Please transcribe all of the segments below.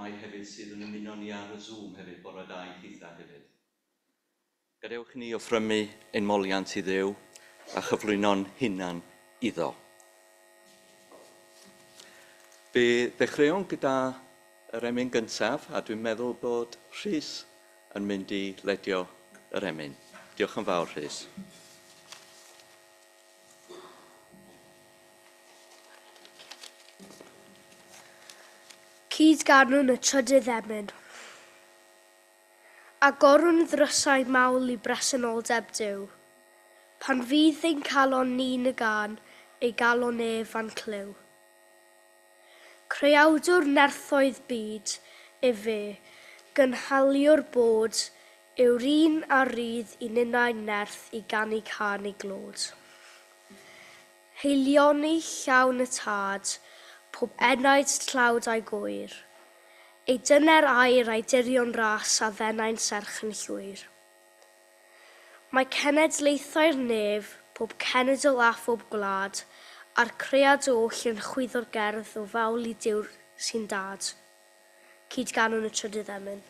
rhai hefyd sydd yn ymuno ni ar y Zoom hefyd, bore da i chitha hefyd. Gadewch ni offrymu ein moliant i Dduw a chyflwyno'n hunan iddo. Fe ddechreuwn gyda yr emyn gyntaf, a dwi'n meddwl bod Rhys yn mynd i ledio yr emyn. Diolch yn fawr, Rhys. Cyd-ganwn y trydydd emyn. Agorwn ddrysau mawl i bresenoldeb Duw. Pan fydd ein calon ni'n y gân, ei galon ef a'n clyw. Creawdwr nerthoedd byd, efe, gynhaliwr bod, yw'r un a rydd i ninnau nerth i ganu cân ei glod. Haelioni llawn y Tad, pob enaid tlawd a'i gŵyr. Ei dyner air a'i dirion ras a ddenai'n serch yn llwyr. Mae cenedlaethau'r nef, pob cenedl a phob gwlad, a'r cread oll yn chwyddo'r gerdd o fawl i Duw'r sy'n dad. Cyd-ganwn y trydydd emyn.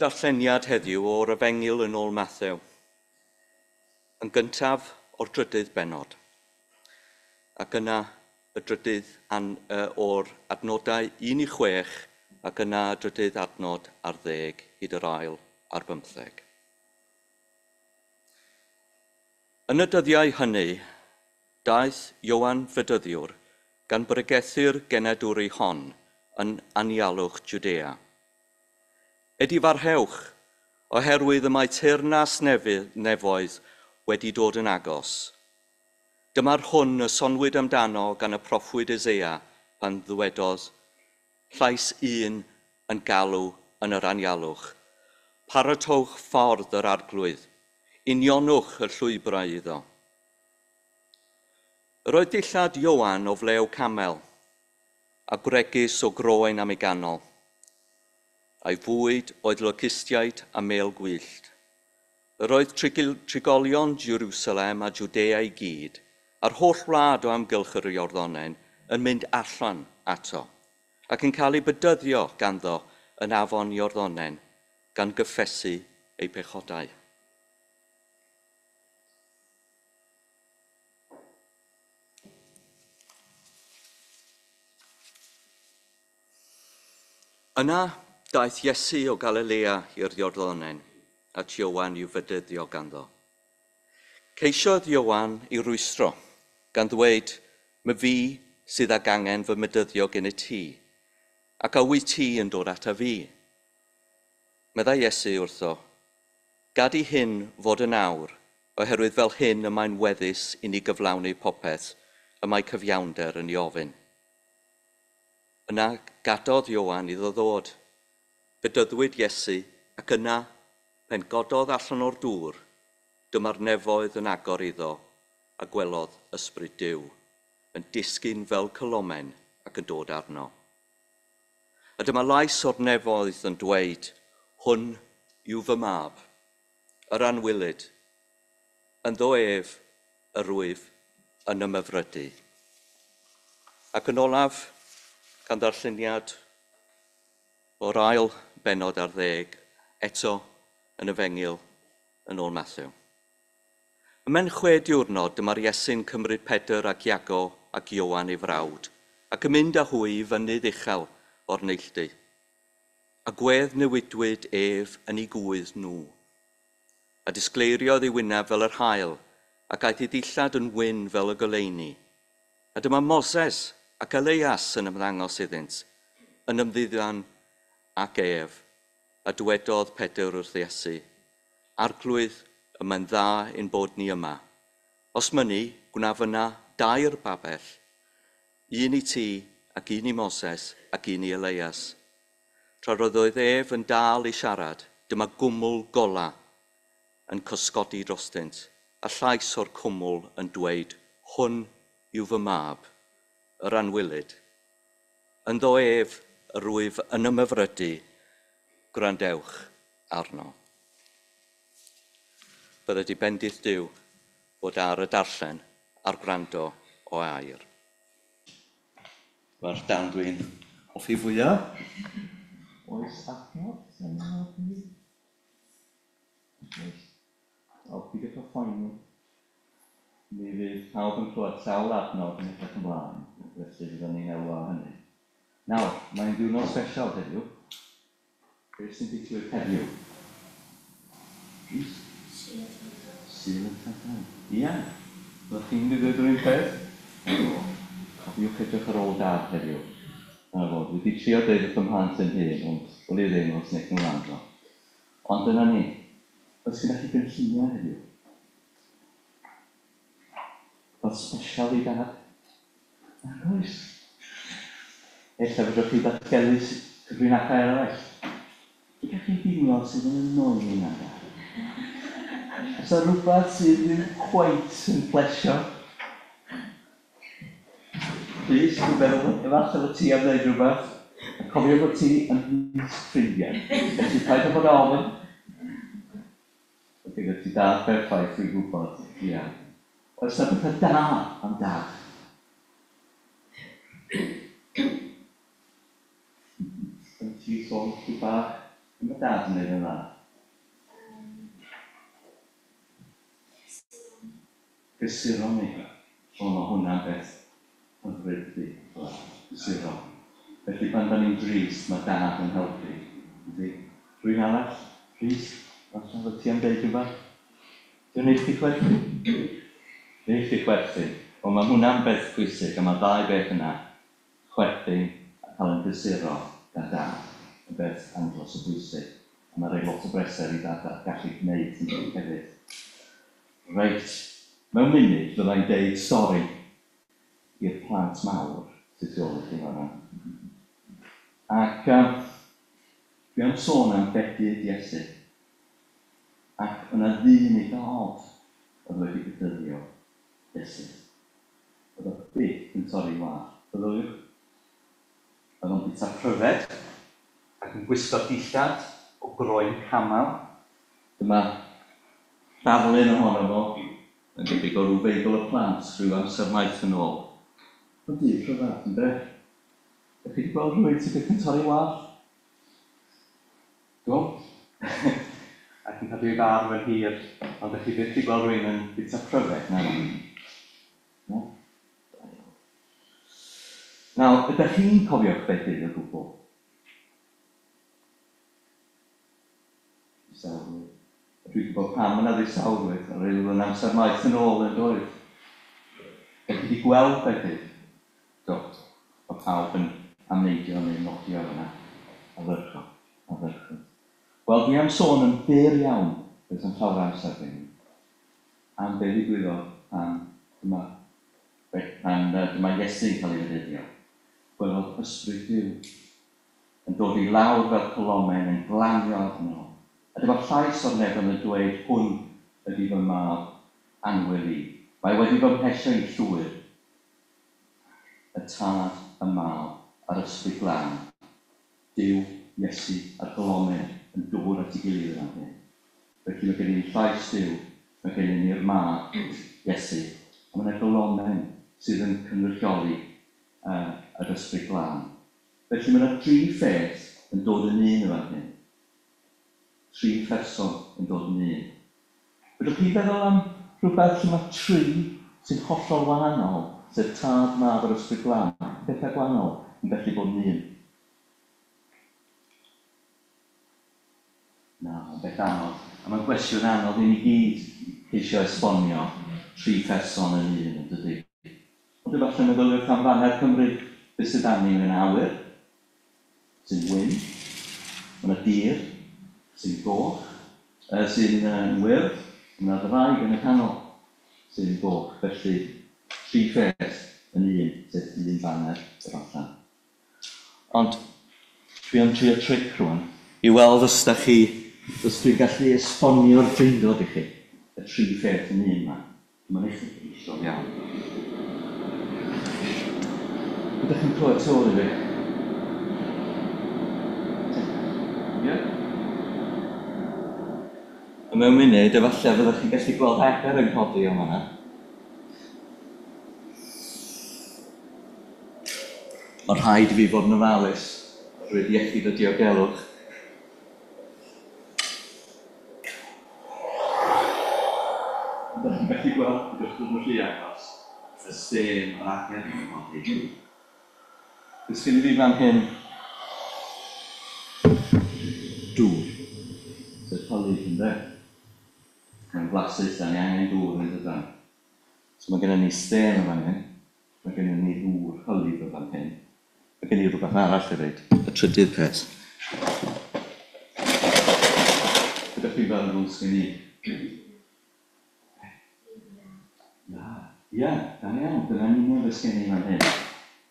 Darlleniad heddiw o'r Efengyl yn ôl Mathew, yn gyntaf o'r drydydd bennod, ac yna y drydydd o'r adnodau 1 i 6, ac yna y drydydd adnod ar 10 hyd yr ail ar 15. Yn y dyddiau hynny, daeth Ioan Fedyddiwr gan bregethu'r genadwri hon yn anialwch Jwdea. Edifarhewch, oherwydd y mae teyrnas nefoedd wedi dod yn agos. Dyma'r hwn y sonwyd amdano gan y proffwyd Eseia pan ddywedodd, llais un yn galw yn yr anialwch. Paratowch ffordd yr arglwydd, unionwch y llwybrau iddo. Yr oedd dillad Ioan o flew camel, a gwregys o groen am ei ganol. A'i fwyd oedd locustiaid a mêl gwyllt. Yr oedd trigolion Jerusalem a Jwdea i gyd, a'r holl wlad o amgylch yr Iorddonen, yn mynd allan ato, ac yn cael ei bedyddio ganddo yn afon Iorddonen, gan gyffesu eu pechodau. Yna daeth Iesu o Galilea i'r Iorddonen, at Ioan i'w fedyddio ganddo. Ceisiodd Ioan i rwystro, gan ddweud, "My fi sydd ag angen fy medyddio gen i ti, ac a wyt ti yn dod ata fi?" Meddai Iesu wrtho, "Gad i hyn fod yn awr, oherwydd fel hyn y mae'n weddus i ni gyflawni popeth y mae cyfiawnder yn ei ofyn." Yna gadodd Ioan iddo ddod. Bedyddwyd Iesu, ac yna, pen gododd allan o'r dŵr, dyma'r nefoedd yn agor iddo, a gwelodd ysbryd Duw, yn disgyn fel colomen ac yn dod arno. A dyma lais o'r nefoedd yn dweud, "Hwn yw fy mab, yr anwylyd, ynddo ef yr wyf yn ymhyfrydu." Ac yn olaf, gan ddarlleniad o'r ail bennod ar ddeg, eto yn Efengyl yn ôl Mathew. Ymhen 6 diwrnod, dyma'r Iesu'n cymryd Pedr ac Iago ac Ioan ei frawd, ac yn mynd â hwy i fynydd uchel o'r neilltu. A gwedd newidwyd ef yn ei gwydd nhw. A disgleiriodd ei wyneb fel yr haul, ac aeth ei ddillad yn wyn fel y goleuni. A dyma Moses ac Elias yn ymddangos iddynt, yn ymddiddan ac ef, a dywedodd Pedr wrth Iesu, "Arglwydd, y mae'n dda ein bod ni yma. Os mynni, gwnaf yna 3 babell, un i ti ac un i Moses ac un i Elias." Tra roedd ef yn dal i siarad, dyma gwmwl gola yn cysgodi drostynt, a llais o'r cwmwl yn dweud, "Hwn yw fy mab, yr anwylyd. Ynddo ef yr wyf yn ymhyfrydu, gwrandewch arno." Bydde di bendith Duw fod ar y darllen a'r gwrando o air. Mae'r darn dwi'n hoffi fwyaf. Oes adnodd sy'n hoffi? Oes. O, peidiwch â phoeni. Mi fydd pawb yn clywed sawl adnod yn edrych ymlaen, felly fyddwn ni'n elwa o hynny. Nawr, mae'n ddiwrnod special heddiw. Beth sy'n digwydd heddiw? Rhys? Sul y Tadau. Ia. Fyddwch chi'n mynd i ddweud yr un peth? O, cofiwch edrych ar ôl dad heddiw. Dyna fo, dwi wedi trio deud wrth fy mhlant yn hyn, ond wn i ddim os wneith nhw wrando. Ond dyna ni. Oes gennych chi gynlluniau heddiw? Rhywbeth special i dad? Nag oes. Ella fedrwch chi ddatgelu cyfrinachau eraill. Be dach chi'n deimlo sydd yn annoying am dad? Oes 'na rhywbeth sydd ddim cweit yn plesio? Rhys, dwi'n meddwl efallai fod ti am ddeud rhywbeth. A cofio bod ti ymhlith ffrindiau, felly paid â bod ofn. Mae gyda ti dad perffaith, dwi'n gwybod. Ia. Oes 'na bethau da am dad? Yn ti sôn chydig bach? Be mae dad yn neud yn dda? Cysuro ni. Cysuro ni. O, mae hwnna'n beth hyfryd, dydi? Cysuro. Felly pan da ni'n drist, mae dad yn helpu. Yndi? Rhywun arall? Rhys? Falle fod ti am deud rhywbeth? Dwi'n neud chdi chwerthin? Neud chdi chwerthin. Wel, mae hwnna'n beth pwysig, a mae'r ddau beth yna, chwerthin a cael yn gysuro gan dad, yn beth andros o bwysig. A mae'n rhoi lot o breser i dad gallu gwneud hynny hefyd. Reit, mewn munud fyddai'n deud stori i'r plant mawr sydd tu ôl i chi fan'na. Ac dwi am sôn am bedydd Iesu. Ac yna ddyn eitha od oedd wedi bedyddio Iesu. Oedd o byth yn torri wallt, meddyliwch. Oedd o'n bwyta pryfed ac yn gwisgo dillad o groen camel. Dyma ddarlun ohono fo, yn debyg o ryw Feibl y Plant rhyw amser maith yn ôl. Ond dyn rhyfedd, ynde? Dach chi 'di gweld rhywun sydd byth yn torri wallt? Do. Ac yn cadw ei farf yn hir, ond ydych chi byth 'di gweld rhywun yn bwyta pryfed, na? Na? Da iawn. Nawr, ydych chi'n cofio'ch bedydd o gwbl? Distawrwydd. A dwi'n gwybod pam yna ddistawrwydd, ar oedd yn amser maith yn ôl yn doedd. Ydych chi wedi gweld bedydd? Do. Mae pawb yn amneidio neu nodio fyna. Ardderchog, ardderchog. Wel, dwi am sôn yn fyr iawn, does 'na'm llawer o amser gen i, am be ddigwyddodd pan dyma, pan dyma Iesu'n cael ei fedyddio. Gwelodd ysbryd Duw yn dod i lawr fel colomen yn glanio arno. A dyma llais o'r nefoedd yn dweud, Hwn ydy fy mab annwyl i. Mae wedi fy mhlesio i'n llwyr. Y Tad, y Mab, a'r Ysbryd Glân. Duw, Iesu, a'r golomen yn dod at ei gilydd yn fan hyn. Felly mae gennym ni llais Duw, mae gennym ni'r Mab, Iesu, a mae yna golomen sydd yn cynrychioli yr Ysbryd Glân. Felly mae yna dri pheth yn dod yn un yn fan hyn. Tri pherson yn dod yn un. Fedrwch chi feddwl am rhywbeth lle mae tri sy'n hollol wahanol, sef Tad, Mab a'r Ysbryd Glân, pethau gwahanol yn gallu bod yn un? Na, mae'n beth anodd. A mae'n gwestiwn anodd i ni gyd ceisio esbonio tri pherson yn un, yn dydy? Ond efallai meddyliwch am faner Cymru, beth sydd arni? Mae yna awyr, sy'n wyn, mae yna dir, sy'n goch, sy'n wyrdd, mae yna ddraig yn y canol, sy'n goch. Felly, tri pheth yn un, sef un faner, efallai. Ond dwi am trio tric rwan, i weld os da chi, os dwi'n gallu esbonio'r Drindod i chi, y tri pheth yn un 'ma. Mae'n uchelgeisiol iawn. Ydych chi'n clywed tu ôl i fi? Ie? A mewn munud, efallai fyddwch chi'n gallu gweld aber yn codi o fan'na. Mae rhaid i fi fod yn ofalus oherwydd iechyd a diogelwch. Ydych chi'n gallu gweld, peidiwch dod yn rhy agos, y stêm a'r ager yn codi. Be sgen i fi fan hyn? Dŵr. Sef hylif, ynde? Mae'n flasus, da ni angen dŵr yn dydan? So mae gennym ni stêm yn fan hyn, mae gennym ni ddŵr hylif yn fan hyn. Mae gen i rhywbeth arall hefyd, y trydydd peth. Ydych chi'n feddwl sgen i? Ia, ia, da iawn, dyna'n union beth sgen i fan hyn.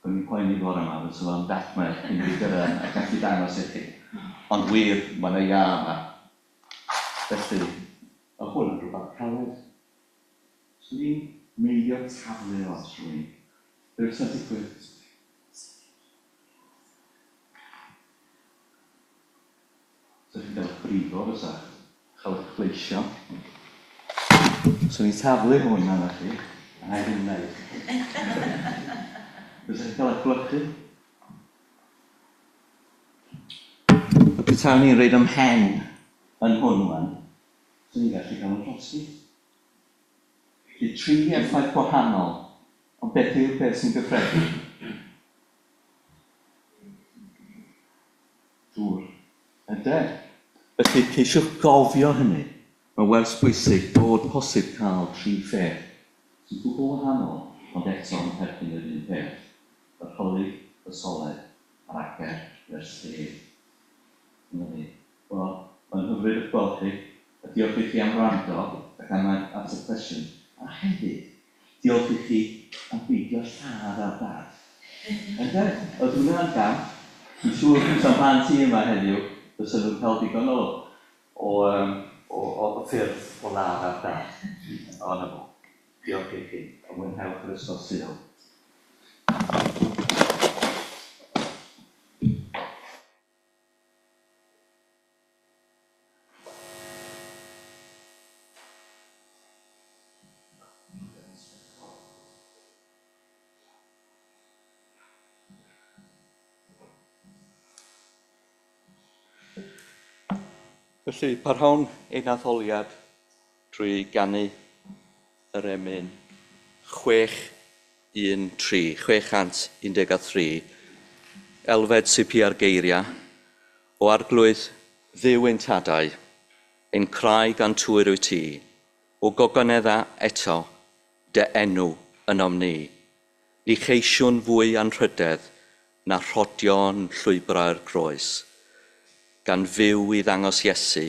O'n i'n poeni bore yma, fysa fo'n dacmau cyn i fi gyrraedd a gallu dangos i chi. Ond wir, mae yna iâ yma. Felly, mae hwn yn rhywbeth caled. Swn i'n meiddio taflu o at rhywun. Be fysa'n digwydd? Sa chi'n cael eich brifo fysa? Chael eich pleisio. Swn i'n taflu hwn arna chi, a na i ddim wneud. Fysa chi'n cael eich gwlychu? A petawn i'n rhoid 'y mhen yn hwn wan, swn i'n gallu cael 'y llosgi. Felly tri effaith gwahanol, ond beth yw'r peth sy'n gyffredin? Dŵr. Ynde? Felly ceisiwch gofio hynny. Mae'n wers bwysig bod posib cael tri pheth sy'n gwbl wahanol ond eto yn perthyn i'r un peth, yr hylif, y soled, a'r ager neu'r stêm. Dyna ni. Wel, mae'n hyfryd eich gweld chi, a diolch i chi am wrando ac am ateb cwestiwn. A hefyd, diolch i chi am beidio lladd ar dad. Ynde? Oedd hwnna'n gamp. Dwi'n siŵr petai plant i yma heddiw, fysa nhw'n cael digon o o yym o o ffyrdd o ladd ar dad. O, 'na fo. Diolch i chi, a mwynhewch yr Ysgol Sul. Felly, parhawn ein addoliad trwy ganu yr emyn 613, 613, Elfed sy'n pia'r geiriau, o Arglwydd Dduw ein tadau, ein craig a'n tŵr wyt ti, o gogonedda eto, dy enw ynom ni. Ni cheisiwn fwy anrhydedd na rhodio'n llwybrau'r groes, gan fyw i ddangos Iesu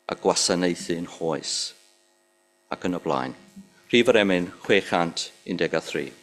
a gwasanaethu'n hoes. Ac yn y blaen. Rhif yr emyn 613.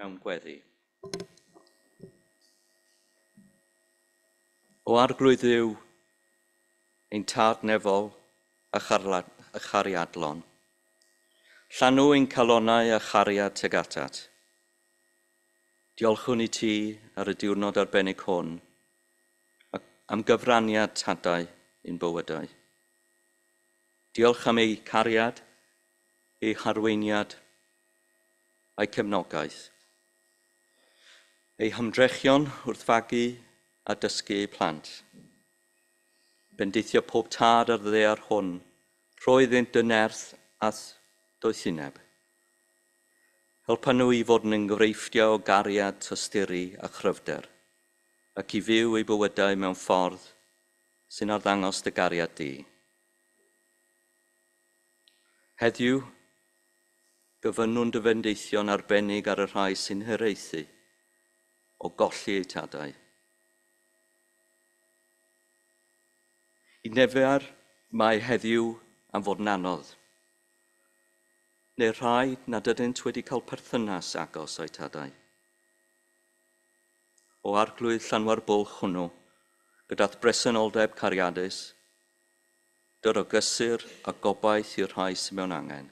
Mewn gweddi. O Arglwydd Dduw, ein tad nefol a chariadlon, llanw ein calonnau a chariad tuag atat. Diolchwn i ti ar y diwrnod arbennig hwn am gyfraniad tadau i'n bywydau. Diolch am eu cariad, eu harweiniad a'u cefnogaeth. Eu hymdrechion wrth fagu a dysgu eu plant. Bendithio pob tad ar ddaear hwn, rhoi iddynt dy nerth a doethineb. Helpa nhw i fod yn enghreifftiau o gariad, tosturi a chryfder, ac i fyw eu bywydau mewn ffordd sy'n arddangos dy gariad di. Heddiw, gofynnwn dy fendithion arbennig ar y rhai sy'n hiraethu o golli eu tadau. I nifer mae heddiw am fod yn anodd, neu rhai nad ydynt wedi cael perthynas agos â'u tadau. O Arglwydd llanwa'r bwlch hwnnw, gyda'th bresenoldeb cariadus, dyr o gysur a gobaith i'r rhai sydd mewn angen.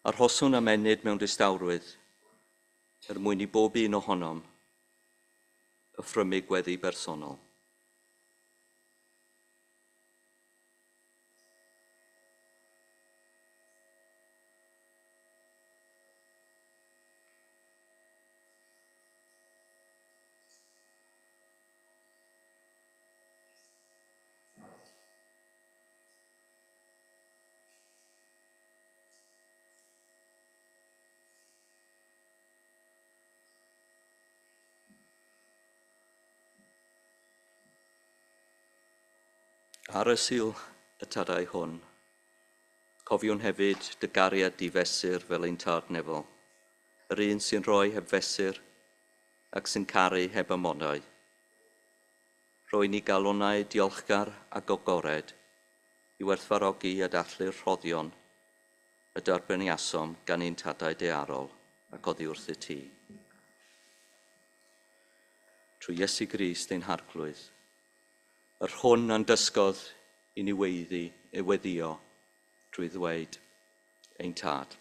Arhoswn am ennyd mewn distawrwydd, er mwyn i bob un ohonom offrymu gweddi bersonol. Ar y Sul y tadau hwn, cofiwn hefyd dy gariad difesur fel ein tad nefol, yr un sy'n rhoi heb fesur ac sy'n caru heb amodau. Rhoi ni galonnau diolchgar ac agored i werthfawrogi a dathlu'r rhoddion y derbyniasom gan ein tadau daearol ac oddi wrthyt ti. Trwy Iesu Grist ein Harglwydd, yr hwn a'n dysgodd i ni weiddi, i weddïo trwy ddweud ein Tad.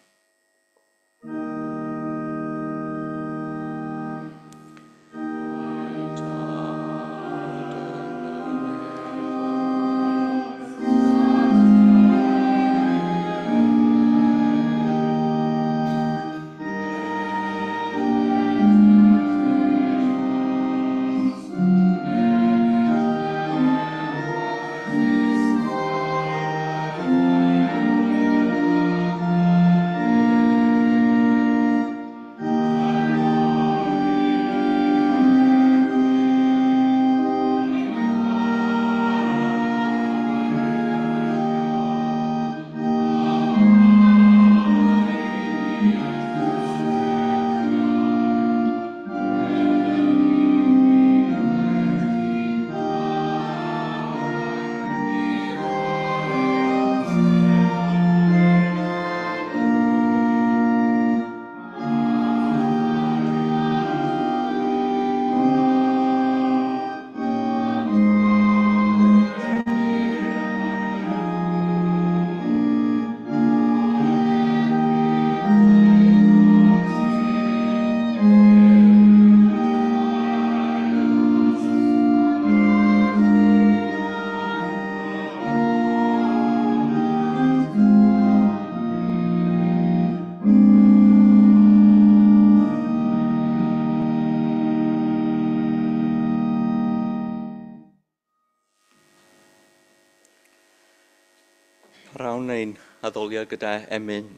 Parhawn ein addoliad gyda emyn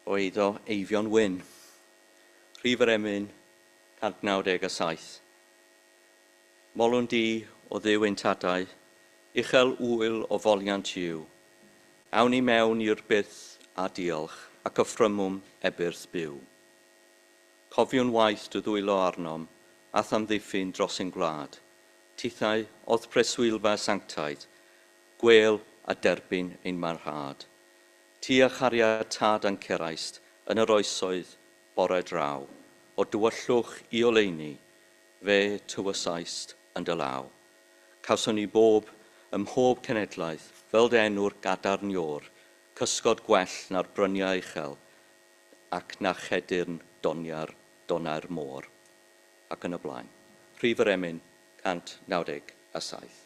o eiddo Eifion Wyn. Rhif yr emyn 197. Molwn di o Dduw ein tadau, uchel ŵyl o foliant yw. Awn i mewn i'r byth a diolch, ac offrymwn ebyrth byw. Cofiwn waith dy ddwylo arnom, a'th amddiffyn dros ein gwlad. Tithau o'dd preswylfa sanctaidd, gwêl a derbyn ein marhad. Ti a chariad tad a'n ceraist yn yr oesoedd bore draw, o dywyllwch i oleuni, fe tywysaist yn dy law. Cawson ni bob ym mhob cenedlaeth, fel dy enw'r gadarn iôr, cysgod gwell na'r bryniau uchel, ac na chedyrn doniau'r donnau'r môr. Ac yn y blaen. Rhif yr emyn 197.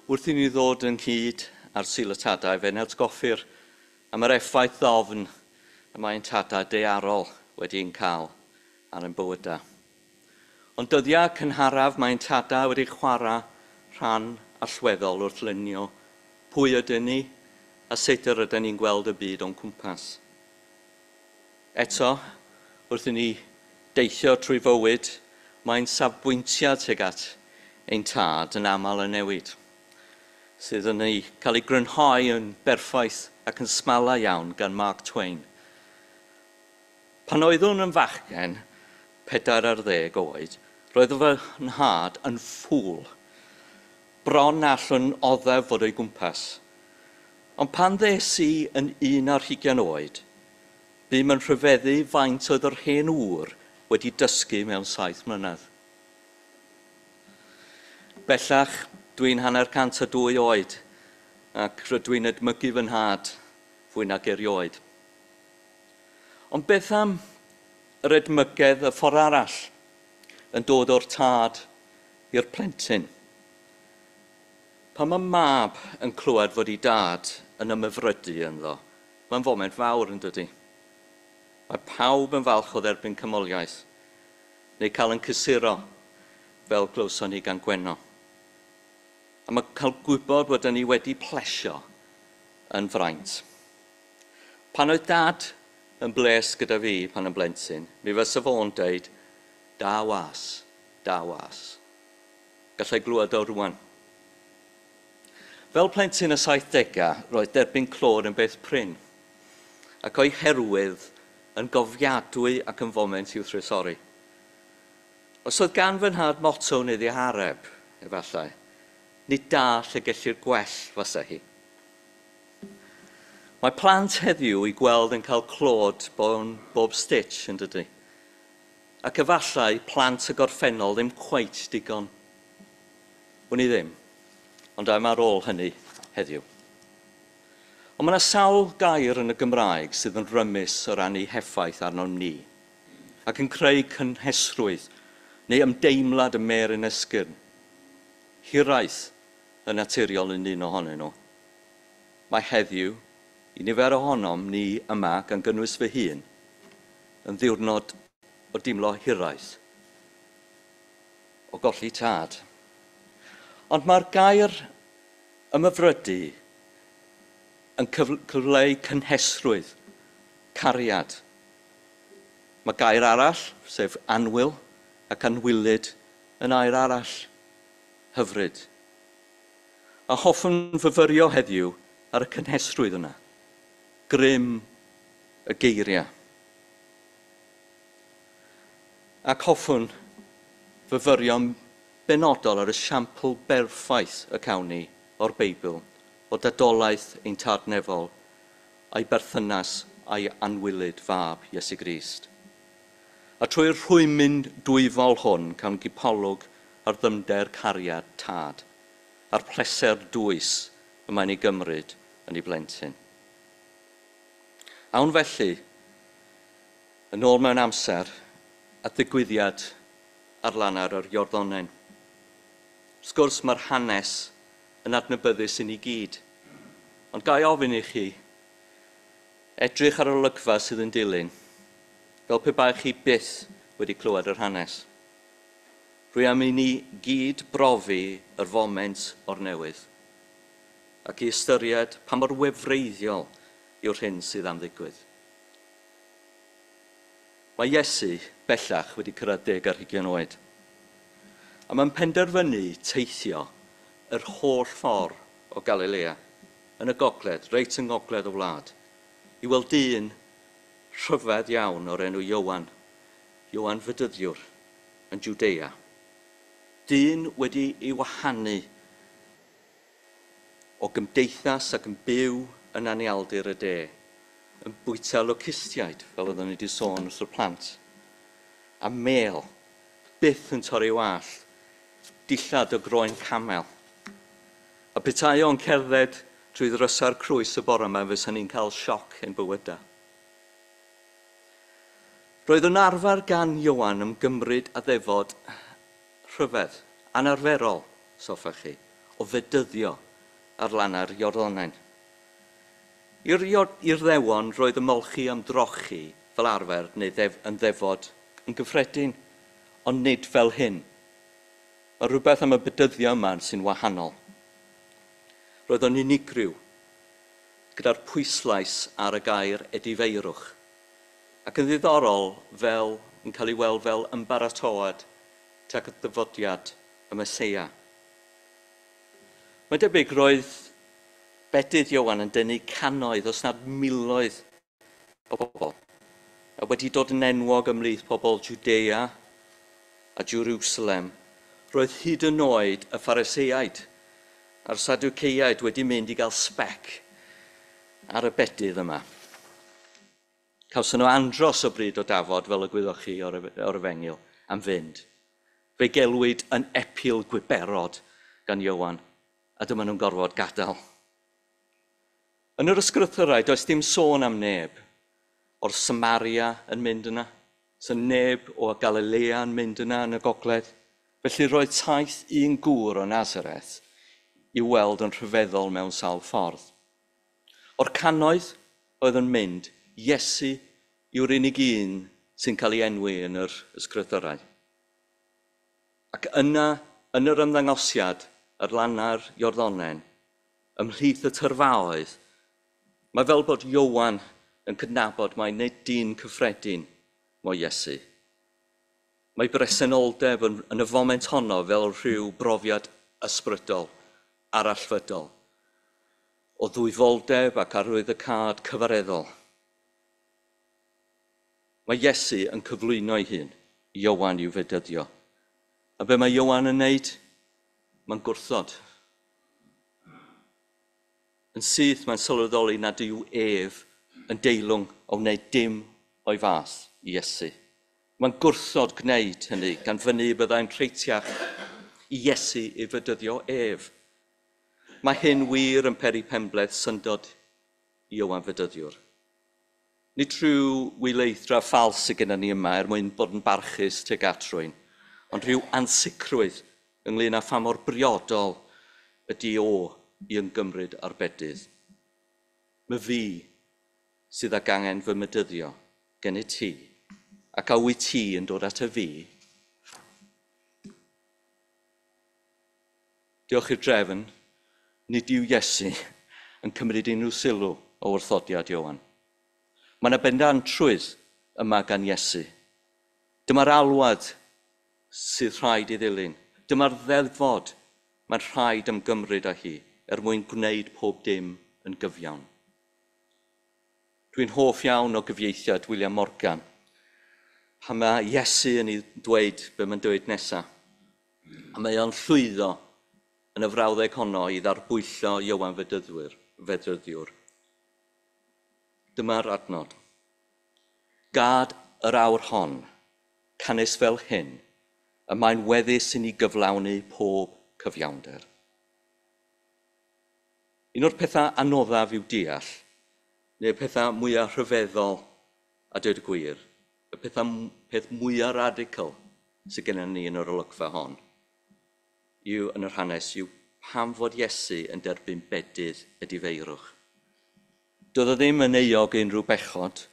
Wrth i ni ddod ynghyd ar Sul y Tadau, fe'n atgoffir am yr effaith ddofn y mae'n tadau daearol wedi'n cael ar ein bywydau. Ond dyddiau cynharaf mae'n tadau wedi chwarae rhan allweddol wrth lunio pwy ydyn ni a sut yr ydyn ni'n gweld y byd o'n cwmpas. Eto, wrth i ni deithio trwy fywyd, mae'n safbwyntiad tuag at ein tad yn aml yn newid, sydd yn ei cael ei grynhoi yn berffaith ac yn smala iawn gan Mark Twain. Pan oeddwn yn fachgen, 14 oed, roedd fy nhad yn ffŵl. Bron allwn oddef fod o'i gwmpas. Ond pan ddes i yn 21 oed, bûm yn rhyfeddu faint oedd yr hen ŵr wedi dysgu mewn 7 mlynedd. Bellach, dwi'n 150 oed ac rydw i'n edmygu fy nhad fwy nag erioed. Ond beth am yr edmygedd y ffordd arall yn dod o'r tad i'r plentyn? Pan mae mab yn clywed fod ei dad yn ymhyfrydu ynddo, mae'n foment fawr, yn dydy? Mae pawb yn falch o dderbyn canmoliaeth, neu cael yn cysuro, fel glywson ni gan Gwenno. A mae cael gwybod bod ni wedi plesio yn fraint. Pan oedd dad yn bles gyda fi pan yn blentyn, mi fysa fo'n deud, "Da was, da was." Gallai glywed o rwan. Fel plentyn y 70au, roedd derbyn clod yn beth prin, ac o'i herwydd yn gofiadwy ac yn foment i'w thrysori. Os oedd gan fy nhad motto neu ddihareb, efallai, nid da lle gellir gwell fasa hi. Mae plant heddiw i gweld yn cael clod bob stitch, yn dydy? Ac efallai plant y gorffennol ddim cweit digon. Wn i ddim, ond am ar ôl hynny heddiw. Ond mae yna sawl gair yn y Gymraeg sydd yn rymus o ran ei heffaith arnom ni, ac yn creu cynhesrwydd neu ymdeimlad y mêr yn esgyrn. Hiraeth yn naturiol yn un ohonyn nhw. Mae heddiw, i nifer ohonom ni yma, gan gynnwys fy hun, yn ddiwrnod o dimlo hiraeth, o golli tad. Ond mae'r gair ymhyfrydu yn cyfleu cynhesrwydd, cariad. Mae gair arall, sef annwyl ac anwylyd, yn air arall, hyfryd. A hoffwn fyfyrio heddiw ar y cynhesrwydd yna, grym y geiriau. Ac hoffwn fyfyrio'n benodol ar y siampl berffaith y cawn ni o'r Beibl, o dadolaeth ein tad nefol, a'i berthynas a'i anwylyd fab Iesu Grist. A trwy'r rhwymyn dwyfol hwn cawn gipolwg ar ddyfnder cariad tad, a'r pleser dwys y mae'n ei gymryd yn ei blentyn. Awn felly, yn ôl mewn amser, at ddigwyddiad ar lannau'r yr Iorddonen. Wrth gwrs, mae'r hanes yn adnabyddus i ni gyd. Ond ga i ofyn i chi, edrych ar yr olygfa sydd yn dilyn, fel pe baech chi byth wedi clywed yr hanes. Rwy am i ni gyd brofi yr foment o'r newydd, ac i ystyried pa mor wefreiddiol yw'r hyn sydd am ddigwydd. Mae Iesu bellach wedi cyrraedd 20 oed, a mae'n penderfynu teithio yr holl ffordd o Galilea, yn y gogledd, reit yng ngogledd y wlad, i weld dyn rhyfedd iawn o'r enw Ioan, Ioan Fedyddiwr, yn Jwdea. Dyn wedi ei wahanu o gymdeithas ac yn byw yn anialdir y de, yn bwyta locustiaid, fel oeddwn ni wedi sôn wrth y plant, a mêl, byth yn torri wallt, dillad o groen camel. A petai o'n cerdded trwy ddrysa'r crwys y bore yma, fysa ni'n cael sioc ein bywydau. Roedd yn arfer gan Ioan ymgymryd â ddefod rhyfedd, anarferol, soffech chi. o fedyddio ar lannau'r Iorddonen. I'r Iddewon roedd ymolchi ymdrochi fel arfer neu yn ddefod yn gyffredin, ond nid fel hyn. Mae rhywbeth am y bedyddio yma sy'n wahanol. Roedd o'n unigryw, gyda'r pwyslais ar y gair edifeirwch, ac yn ddiddorol fel yn cael ei weld fel ymbaratoad tuag at ddyfodiad y Meseia. Mae'n debyg roedd bedydd Ioan yn denu cannoedd, os nad miloedd o bobl, a wedi dod yn enwog ymhlith pobl Judea a Jerusalem. Roedd hyd yn oed y Phariseaid a'r Sadwceiaid wedi mynd i gael sbec ar y bedydd yma. Cawson nhw andros o bryd o dafod, fel y gwyddoch chi o'r Efengyl, am fynd. Fe gelwyd yn epil gwiberod gan Ioan, a dyma nhw'n gorfod gadael. Yn yr ysgrythurau, does dim sôn am neb o'r Samaria yn mynd yna. So neb o Galilea yn mynd yna yn y gogledd. Felly roedd taith un gŵr o Nazareth i'w weld yn rhyfeddol mewn sawl ffordd. O'r cannoedd oedd yn mynd, Iesu yw'r unig un sy'n cael ei enwi yn yr ysgrythurau. Ac yna, yn yr ymddangosiad, ar lannau'r Iorddonen, ymhlith y tyrfaoedd, mae fel bod Ioan yn cydnabod mai nid dyn cyffredin mo Iesu. Mae bresenoldeb yn y foment honno fel rhyw brofiad ysbrydol, arallfydol, o ddwyfoldeb ac arwyddocâd cyfareddol. Mae Iesu yn cyflwyno ei hun i Ioan i'w fedyddio. A be mae Ioan yn wneud? Mae'n gwrthod. Yn syth mae'n sylweddoli nad yw ef yn deilwng o wneud dim o'i fath i Iesu. Mae'n gwrthod gwneud hynny gan fynnu byddai'n rheitiach i Iesu ei fedyddio ef. Mae hyn wir yn peri penbleth syndod i Ioan Fedyddiwr. Nid rhyw wyleithdra ffals sydd gennym ni yma er mwyn bod yn barchus tuag at rhywun, ond rhyw ansicrwydd ynglyn â pha mor briodol ydy o i ymgymryd â'r bedydd. Mae fi sydd ag angen fy mydyddio gennyt ti, ac a wyt ti yn dod at y fi? Diolch i'r drefn, nid yw Iesu yn cymryd unrhyw sylw o wrthodiad Ioan. Mae yna bendantrwydd yma gan Iesu. Dyma'r alwad sydd rhaid ei ddilyn. Dyma'r ddeddfod mae'n rhaid ymgymryd â hi er mwyn gwneud pob dim yn gyfiawn. Dwi'n hoff iawn o gyfieithiad William Morgan, pan mae Iesu yn ei dweud be mae'n dweud nesaf. A mae o'n llwyddo yn y frawddeg honno i ddarbwyllo Ioan Fedyddiwr. Dyma'r adnod. Gad yr awr hon, canys fel hyn, y mae'n weddus i ni gyflawni pob cyfiawnder. Un o'r pethau anoddaf i'w deall, neu'r pethau mwyaf rhyfeddol, a dweud y gwir, y peth mwyaf radical sydd gennym ni yn yr olygfa hon, yw yn yr hanes, yw pam fod Iesu yn derbyn bedydd edifeirwch. Doedd o ddim yn euog unrhyw bechod.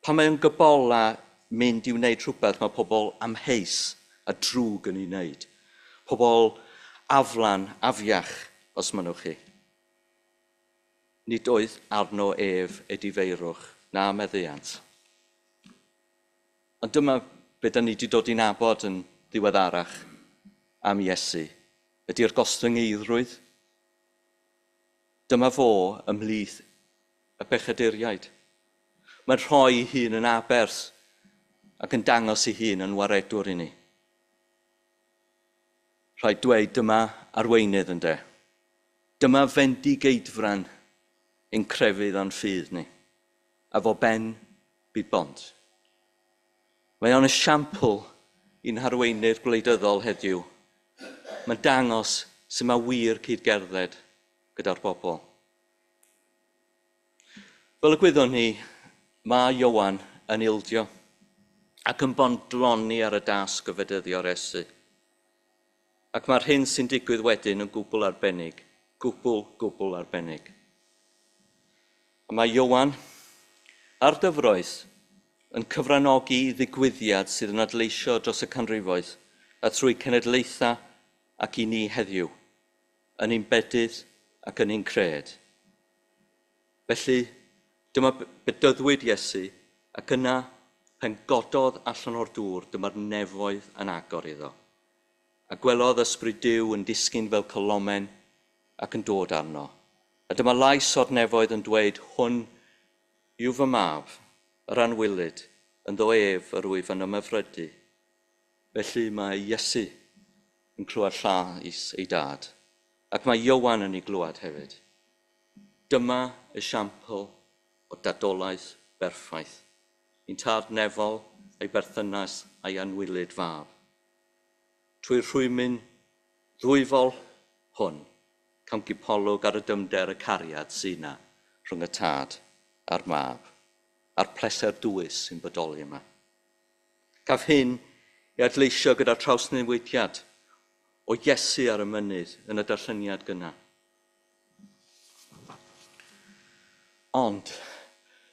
Pan mae o'n gybola mynd i wneud rhywbeth mae pobl amheus a drwg yn ei wneud. Pobl aflan, afiach, os mynnwch chi. Nid oedd arno ef edifeirwch na meddiant. Ond dyma be da ni wedi dod i nabod yn ddiweddarach am Iesu. Ydy'r gostyngeiddrwydd. Dyma fo ymhlith y pechaduriaid. Mae'n rhoi ei hun yn aberth ac yn dangos ei hun yn waredwr i ni. Rhaid dweud dyma arweinydd ynde. Dyma fendigeidfran ein crefydd a'n ffydd ni. A fo ben byd bont. Mae o'n esiampl i'n harweinydd gwleidyddol heddiw. Mae'n dangos sut mae wir cyd-gerdded gyda'r bobl. Fel y gwyddwn ni, mae Ioan yn ildio ac yn bodloni ar y dasg o fedyddio'r Iesu. Ac mae'r hyn sy'n digwydd wedyn yn gwbl arbennig. Gwbl, gwbl arbennig. A mae Ioan a'r dyfroedd yn cyfranogi i ddigwyddiad sydd yn adleisio dros y canrifoedd a trwy cenedlaethau ac i ni heddiw, yn ein bedydd ac yn ein cred. Felly, dyma bedyddwyd Iesu ac yna pen gododd allan o'r dŵr, dyma'r nefoedd yn agor iddo. A gwelodd ysbryd Duw yn disgyn fel colomen ac yn dod arno. A dyma lais o'r nefoedd yn dweud, hwn yw fy mab, yr anwylyd, ynddo ef yr wyf yn ymhyfrydu. Felly mae Iesu yn clywed llais ei dad, ac mae Ioan yn ei glywed hefyd. Dyma esiampl o dadolaeth berffaith. Ein tad nefol, ei berthynas a'i anwylyd fab. Trwy'r rhwymyn ddwyfol hwn, cawn gipolwg ar y dyfnder y cariad sy'n yna rhwng y tad a'r mab, a'r pleser dwys sy'n bodoli yma. Caf hyn i adleisio gyda'r trawsnewidiad o Iesu ar y mynydd yn y darlleniad gynna. Ond,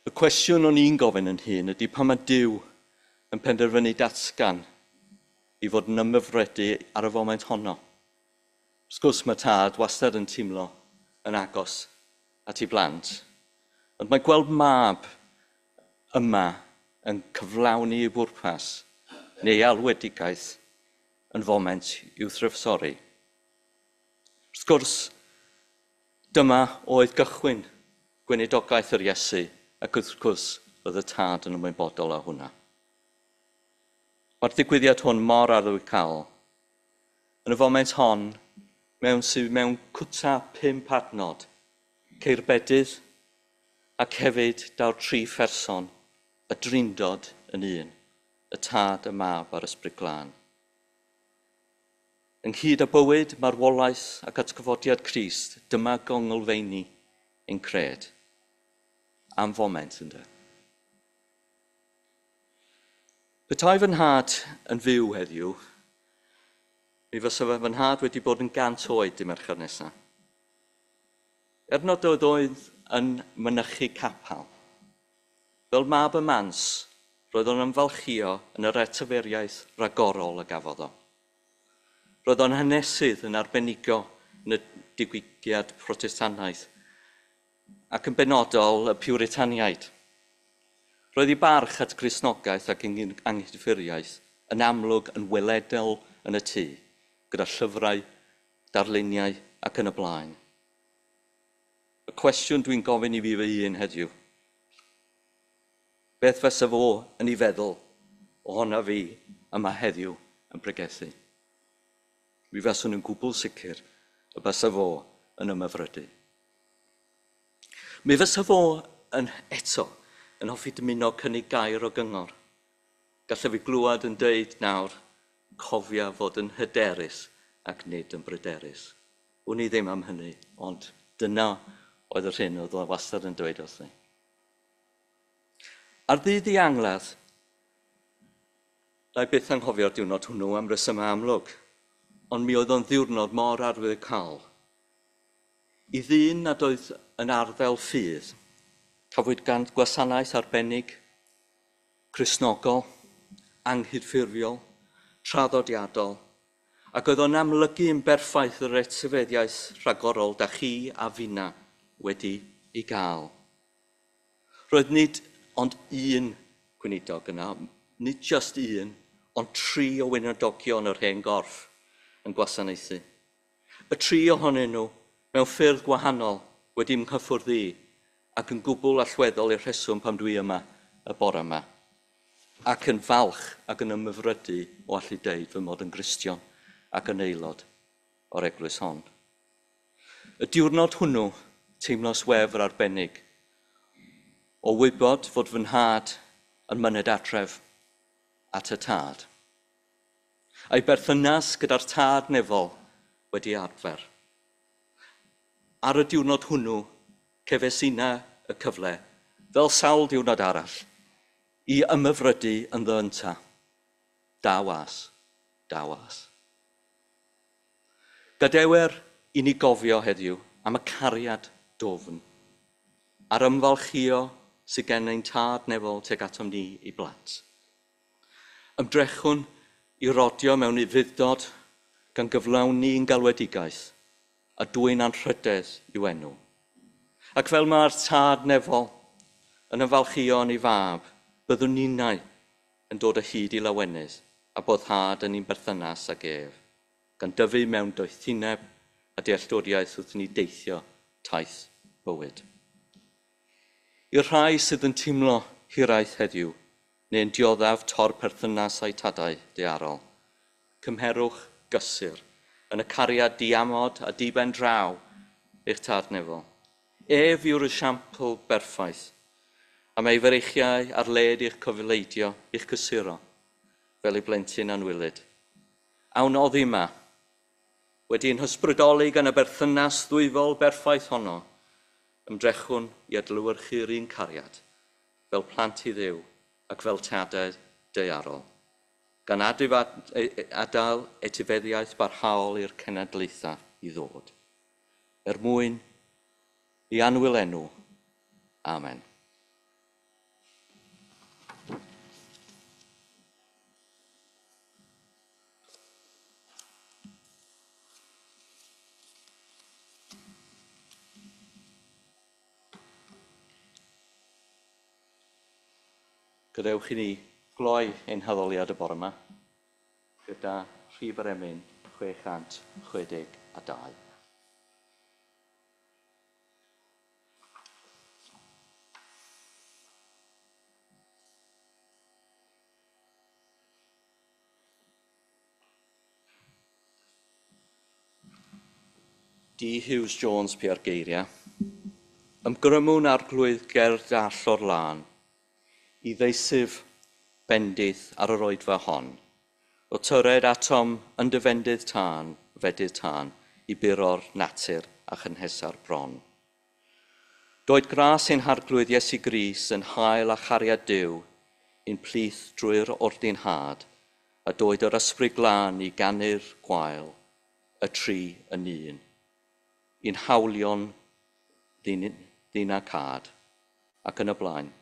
y cwestiwn o'n i'n gofyn yn hun ydy pan mae Duw yn penderfynu datgan i fod yn ymhyfrydu ar y foment honno. Wrth gwrs mae tad wastad yn teimlo yn agos at ei blant. Ond mae gweld mab yma yn cyflawni ei bwrpas neu ei alwedigaeth yn foment i'w thrysori. Wrth gwrs, dyma oedd gychwyn gweinidogaeth yr Iesu, ac wrth gwrs roedd y tad yn ymwybodol o hwnna. Mae'r digwyddiad hwn mor arwyddocaol. Yn y foment hon, mewn sydd mewn cwta 5 adnod, ceir bedydd, ac hefyd daw'r 3 pherson, y Drindod yn un, y Tad, y Mab a'r Ysbryd Glân. Ynghyd â bywyd, marwolaeth ac atgyfodiad Crist, dyma gonglfeini ein cred. Am foment, ynde. Petai fy nhad yn fyw heddiw, mi fysa fy nhad wedi bod yn 100 oed dy' Mercher nesaf. Er nad oedd oedd yn mynychu capel, fel mab y mans, roedd o'n ymfalchïo yn yr etifeddiaeth ragorol y gafodd o. Roedd o'n hanesydd yn arbenigo yn y diwygiad Protestannaidd ac yn benodol y Piwritaniaid. Roedd ei barch at Gristnogaeth ac anghydffurfiaeth yn amlwg yn weledol yn y tŷ, gyda llyfrau, darluniau ac yn y blaen. Y cwestiwn dwi'n gofyn i fi fy hun heddiw, beth fysa fo yn ei feddwl ohona fi yma heddiw yn pregethu? Mi faswn yn gwbl sicr y bysa fo yn ymhyfrydu. Mi fysa fo yn eto yn hoffi dymuno cynnig gair o gyngor. Gallaf fi glywed yn deud nawr, cofia fod yn hyderus ac nid yn bryderus. Wn i ddim am hynny, ond dyna oedd yr hyn oedd o wastad yn dweud wrthi. Ar ddydd ei angladd, na i byth anghofio'r diwrnod hwnnw am resymau amlwg, ond mi oedd o'n ddiwrnod mor arwyddocaol. I ddyn nad oedd yn arddel ffydd, cafwyd gan gwasanaeth arbennig, Cristnogol, anghydffurfiol, traddodiadol, ac oedd o'n amlygu yn berffaith yr etifeddiaeth rhagorol da chi a finna wedi ei gael. Roedd nid ond un gweinidog yna, nid just un, ond 3 o weinidogion yr hen gorff yn gwasanaethu. Y 3 ohonyn nhw, mewn ffyrdd gwahanol, wedi nghyffwrdd i ac yn gwbl allweddol i'r rheswm pam dwi yma y bore yma. Ac yn falch ac yn ymhyfrydu o allu deud fy mod yn Gristion ac yn aelod o'r eglwys hon. Y diwrnod hwnnw, teimlos wefr arbennig o wybod fod fy nhad yn myned adref at y tad. A'i berthynas gyda'r tad nefol wedi adfer. Ar y diwrnod hwnnw, cefais inna y cyfle, fel sawl diwrnod arall, i ymhyfrydu ynddo ynta. Da was, da was. Gadewer i ni gofio heddiw am y cariad dofn a'r ymfalchio sydd gen ein tad nefol tuag atom ni i blant. Ymdrechwn i rodio mewn ufudd-dod gan gyflawni ein galwedigaeth a dwyn anrhydedd i'w enw. Ac fel mae'r tad nefol yn ymfalchio yn ei fab, byddwn ninnau yn dod o hyd i lawenydd a boddhad yn ein berthynas ag ef, gan dyfu mewn doethineb a dealltwriaeth wrth ni deithio taith bywyd. I'r rhai sydd yn teimlo hiraeth heddiw, neu'n dioddef tor perthynas â'u tadau daearol, cymherwch gysur yn y cariad diamod a diben draw eich tad nefol. Ef yw'r esiampl berffaith, a mae ei freichiau ar led i'ch cofleidio, i'ch cysuro, fel ei blentyn anwylyd. Awn oddi yma, wedi'n hysbrydoli gan y berthynas ddwyfol berffaith honno, ymdrechwn i adlewyrchu'r un cariad, fel plant i Dduw ac fel tadau daearol, gan adael etifeddiaeth barhaol i'r cenedlaethau i ddod. Er mwyn i annwyl enw. Amen. Gadewch i ni gloi ein haddoliad y bore yma gyda rhif yr emyn 662. D. Hughes Jones pia'r geiriau. Ymgrymwn arglwydd ger dall o'r lân, i ddeisyf bendith ar yr oedfa hon. O tyred atom yn dy fendydd tân, fedydd tân, i buro'r natur a chynhesa'r bron. Doed gras ein harglwydd Iesu Grist yn hael a chariad Duw i'n plith drwy'r ordinhad, a doed yr ysbryd glân i ganu'r gwael, y tri yn un, i'n hawlion ddyn a cad, ac yn y blaen.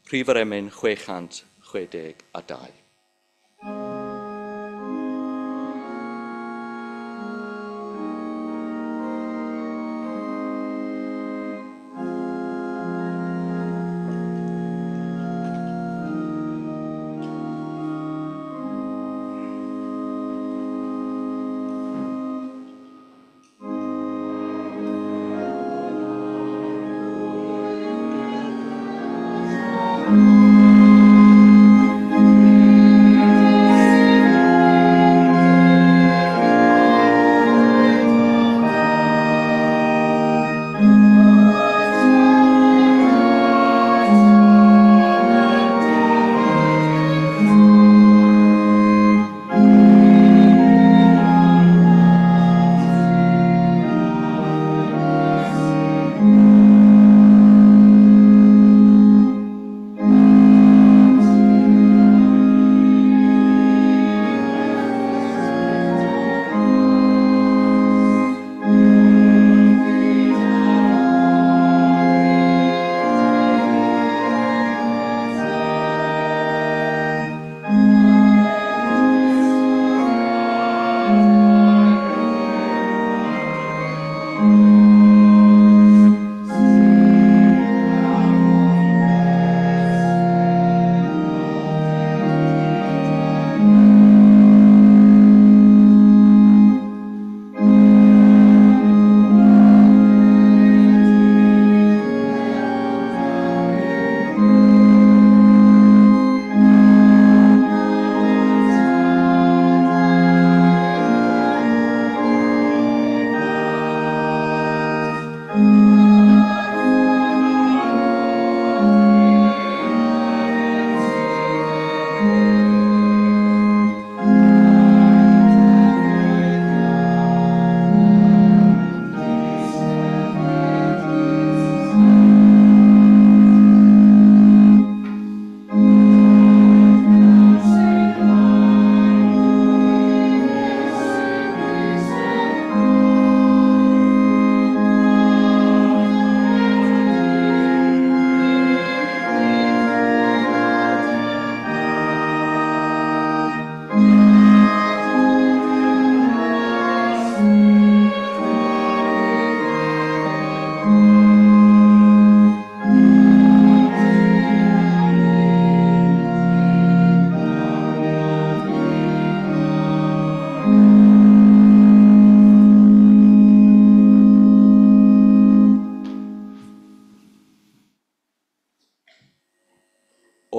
Rhif yr emyn 662.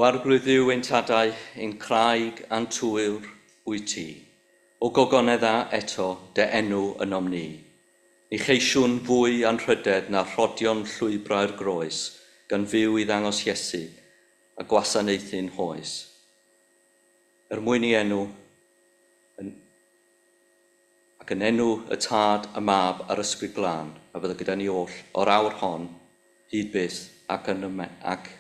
O Arglwydd Dduw ein tadau, ein craig a'n tŵr wyt ti. O gogonedda eto dy enw ynom ni. Ni cheisiwn fwy anrhydedd na rhodion llwybrau'r groes, gan fyw i ddangos Iesu a gwasanaethu'n hoes. Er mwyn i enw, yn, ac yn enw y Tad, y Mab a'r Ysbryd Glân, a fydda gyda ni oll o'r awr hon, hyd byth ac, yn yme, ac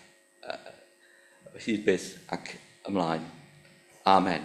hyd byth ac ymlaen. Amen.